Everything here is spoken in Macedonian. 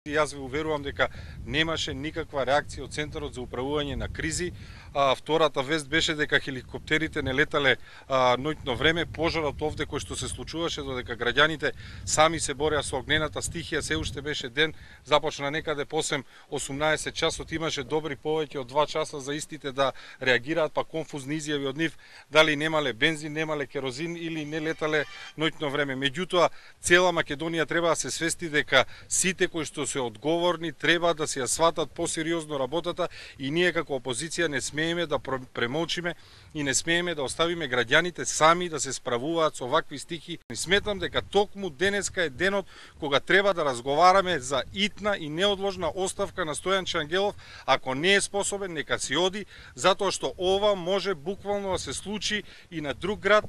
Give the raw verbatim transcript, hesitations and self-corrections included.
Јас ви уверувам дека немаше никаква реакција од Центарот за управување на кризи. А, втората вест беше дека хеликоптерите не летале а, ноќно време. Пожарот овде кој што се случуваше, додека граѓаните сами се бореа со огнената стихија, се уште беше ден, започна некаде по осум-осумнаесет часот, имаше добри повеќе од два часа за истите да реагираат, па конфузни изјави од нив дали немале бензин, немале керозин или не летале ноќно време. Меѓутоа, цела Македонија треба да се свести дека сите кои што се одговорни треба да се ја сватат посериозно работата и ние како опозиција не смееме да премолчиме и не смееме да оставиме граѓаните сами да се справуваат со вакви стихи. Сметам дека токму денеска е денот кога треба да разговараме за итна и неодложна оставка на Стојанче Ангелов. Ако не е способен, нека си оди, затоа што ова може буквално да се случи и на друг град